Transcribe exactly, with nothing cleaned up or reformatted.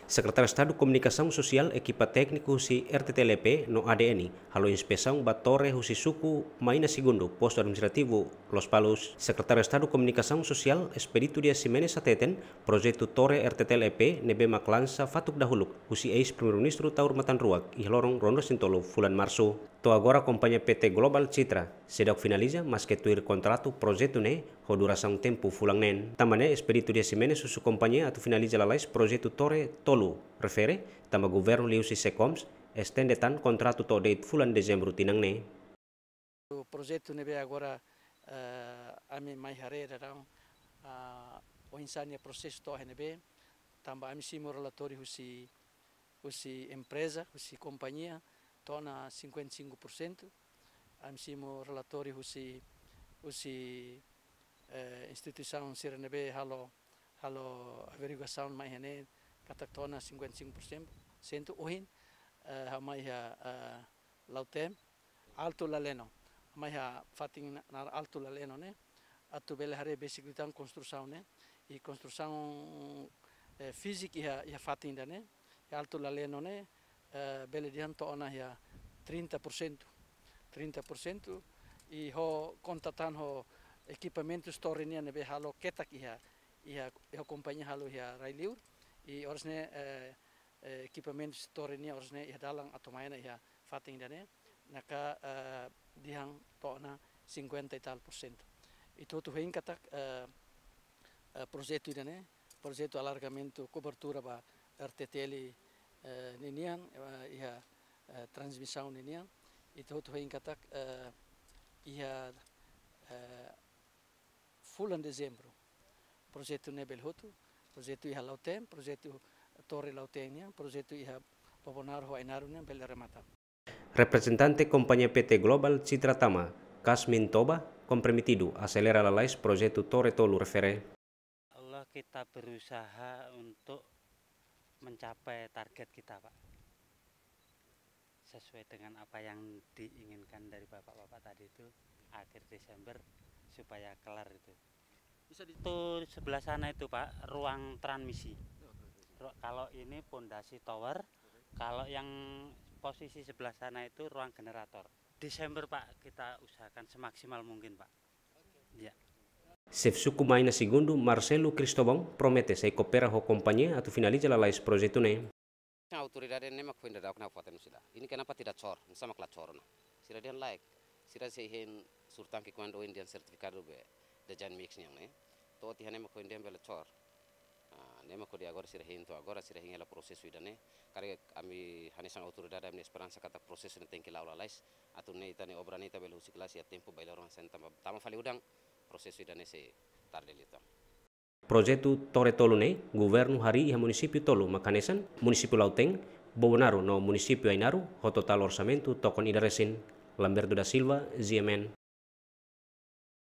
Sekretáriu Estadu Komunikasaun Sosiál, ekipa tékniku husi R T T L E P no A D N halo inspesaun ba tore husi suku Maina Segundu, Postu Administrativu Lospalos. Sekretáriu Estadu Komunikasaun Sosiál, Expedito Dias Ximenes hateten, projetu tore R T T L E P ne'ebé mak lansa fatuk dahuluk husi eis-Primeiru-Ministru Taur Matan Ruak iha loron ruanulu-resin-tolu fulan Marsu. To'o agora kompañia P T Global Citra seidauk finaliza, maske tuir kontratu projetu ne'e ho durasaun tempu fulan neen. Tanba ne'e Expedito Dias Ximenes husu kompañia atu finaliza lalais projetu tore tolu refere, tanba governu liuhusi SECOMS estende tan kontratu to'o de'it fulan Dezembru tinan ne'e. Projetu ne'ebé agora, eh, ami mai haree daudaun, ah, oinsá nia prosesu to'o iha ne'ebé, tanba ami simu relatóriu husi, husi empreza, husi kompañia, to'o ona cinquenta e cinco por cento. Ami simu relatóriu husi, husi, eh, instituisaun sira ne'ebé halo, halo averiguasaun mai iha ne'e, katak to'o ona cinquenta e cinco por cento. Ohin, eh, ha'u mai iha, eh, Lautem, Alto Laleno. Mai iha fatin na-, naran Alto Laleno ne'e, atu bele haree besik liután konstrusaun ne'e. I konstrusaun, eh, fíziku iha, iha fatin ida-ne'e, iha Alto Laleno ne'e, eh, bele dehan to'o ona iha trinta por cento. Trinta por cento, i ho konta tan ho ekipamentu tore nian ne'ebé halo ketak iha, iha, iha kompañia halo iha rai-liur, i oras ne'e, eh, eh, ekipamentu tore nian oras ne'e iha dalan atu mai ona iha fatin ida-ne'e, ne'e ka, eh, dehan to'o ona cinquenta e tal por cento. Ita hotu hein katak, eh, eh, projetu ida-ne'e, projetu alargamentu kobertura ba R T T L, eh, ninian, eh, iha, eh, transmisaun ninian, ita hotu hein katak, eh, iha, eh, fulan Dezembru, projetu ne'e bele hotu, projetu iha Lautem, projetu tore Lautem nian, projetu iha Bobonaro ho Ainaro nian bele remata. Reprezentante kompañia P T Global Citra tama, Kasmin Toba, komprometidu aselera lalais projetu tore tolu refere. Allah, kita berusaha untuk mencapai target kita, Pak. Sesuai dengan apa yang diinginkan dari bapak-bapak tadi itu, akhir Desember supaya kelar itu. Bisa di- Itu sebelah sana itu, Pak, ruang transmisi. Oh, transmisi. Ru-, kalau ini pondasi tower, oke, kalau yang posisi sebelah sana itu ruang generator. Desember, Pak, kita usahakan semaksimal mungkin, Pak. Oke. Ya. Xefe suku Maina Segundu, Marcelo Cristóvão, promete sei koopera ho kompañia atu finaliza lalais projetu ne'e. Autoridade ne'e mak foin daudauk ona fatin sila. Ini kenapa tidak cor? Ini sama kala cor ona. Sira dehan laek. Sira sei hein sur tangki kuandu ohin dehan sertifikadu be design mix nian ne'e. To'o tiha ne'e mak foin dehan bele cor. Ah, ne'e mak hodi agora sira hein to'o agora sira hein hela prosesu ida-ne'e. Karik ami hanesan autoridade ami-nia esperansa katak prosesu ne'e tenke la'o lalais. Atu nune'e ita-nia obra ne'e ita bele husik lalais iha tempu bailoro hanesan tanba tama fali udan prosesu ida-ne'e sei tarde liután. Projetu tore tolu ne'e, governu harii iha munisípiu tolu mak hanesan, munisípiu Lautem, Bobonaro no munisípiu Ainaro, ho totál orsamentu tokon ida resin. Lamberto da Silva, G M N.